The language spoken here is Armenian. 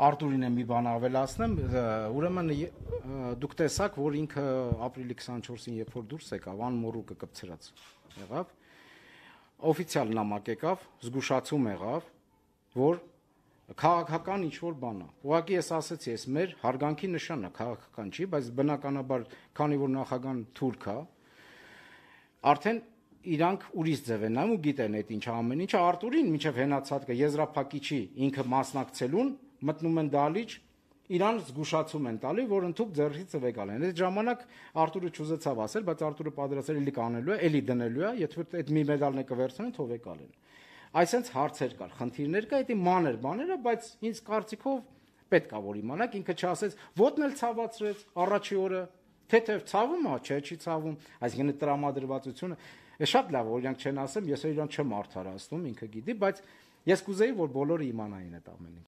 Արտուրին եմ մի բան ավելացնեմ, ուրեմն դուք տեսաք, որ ինքը ապրիլի 24-ին երբ որ դուրս եկավ, անմոռուկը կպցրած եղավ, օֆիցիալ նամակ եկավ, զգուշացում եղավ, որ քաղաքական ինչ-որ բան է։ Ուղղակի ես ասեցի, ես մեր հարգանքի նշանն է, քաղաքական չի, բայց բնականաբար, քանի որ նախագահան թուրք է, արդեն իրանք ուրիշ ձև են նայում ու գիտեն այդ ինչ ամեն ինչը Արտուրին մինչև հենացածը եզրափակիչի ինքը մասնակցելուն մտնում են դալիճ, իրան զգուշացում են տալի, որ ընդհանուր ձեռքից ծվեկալ են։ Այդ ժամանակ Արտուրը չուզեցավ ասել, բայց Արտուրը պատրաստ էր էլի կանելու է, էլի դնելու է, եթե այդ մի մեդալն է կվերցնեն, թողեկալ են։ Այսինքն հարցեր կար, խնդիրներ կա, դա մանր բաներ է, բայց ինձ կարծիքով պետք է որ իմանաք, ինքը չասեց, ոտն էլ ցավացրեց առաջի օրը, թեթև ցավում է, չէ, չի ցավում, այսինքն տրամադրվածությունը շատ լավ, օրինակ չեն ասեմ, ես իրան չեմ արդարացնում, ինքը գիտի, բայց ես կուզեի, որ բոլորը իմանային այդ ամենը։